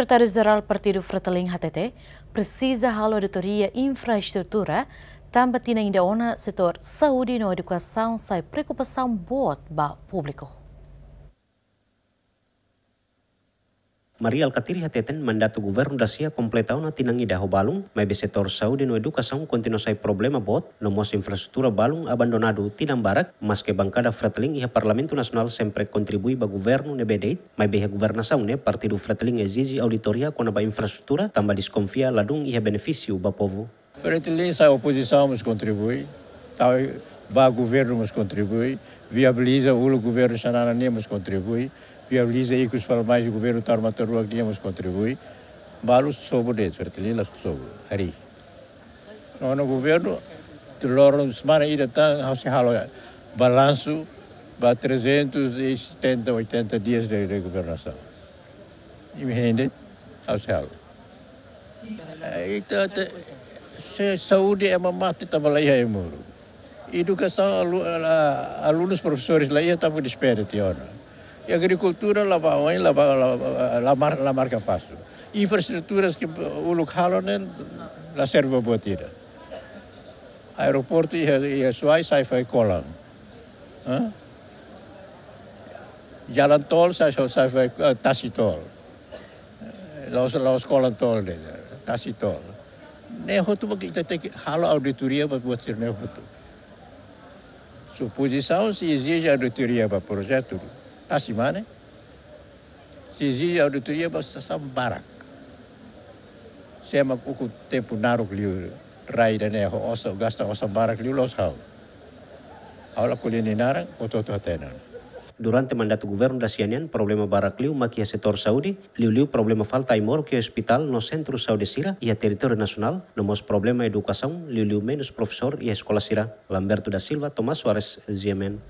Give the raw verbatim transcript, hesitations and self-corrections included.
Sekretáriu Jerál Partidu Fretilin hatete, presiza halo auditoria infraestrutura, tanba tinan ida ona setór saúde no edukasaun sai preokupasaun boot ba públiku. Mari Alkatiri hateten mandatu governu dasia kompleta ona tinan ida ho balun, maibé setór saúde no edukasaun kontinua sai problema boot, no mós infraestrutura balun abandonadu tinan barak, maske bankada Fretilin iha Parlamentu Nasionál sempre kontribui ba governu ne'ebé de'it, maibé iha governasaun ne'e Partidu Fretilin ezije auditoria kona-ba infraestrutura, tanba deskonfia ladún iha benefísiu ba povu. Fretilin sai opozisaun mós kontribui, tau ba governu mós kontribui, viabiliza uluk governu Xanana nian mós kontribui, viabiliza ikus fali mai governu Taur Matan Ruak nian mós kontribui. Balu sobu de'it, Fretilin la sobu, harii. Nonu governu, tu loron semana ida tan, ha'u sei halo balansu ba trezentos e setenta, oitenta dias de, de governasaun. Imi hende, ha'u sei halo. Eh, ita, ita, se saúde ema mate tanba la iha ai-moruk. Edukasaun alu-, la, alunus, profesores la iha tanba despede tiha ona. I agrikultura la bá oin, la bá, la, la mar-, la marka pasu. Infraestruturas ke uluk halo ne'e la serve ba buat ida. Aeroportu iha, iha Suai sai fali kolan. Hã? Jalan tol sai, sai, sai fali, eh, tasi tol. Eh, la'ós, la'ós kolan tol de'it, tasi tol. Ne'e hotu mak ita tenke halo auditoria ba buat sira-ne'e hotu. Se opozisaun sei ezije auditoria ba projetu tasi mane, sei ezije auditoria ba sasán barak. Sé mak ukun tempu naruk liu rai ida-ne'e ho osan, gasta osan barak liu, la'ós ha'u. Ha'u la ko'alia nia naran, hotu-hotu hatene. Durante mandatu governu dasia nian, problema barak liu mak iha setór saúde, liuliu problema falta ai-moruk iha ospitál no sentru saúde sira iha territóriu nasionál, no mós problema edukasaun, liuliu menus profesór iha eskola sira. Lamberto da Silva, Tomás Soares, G M N.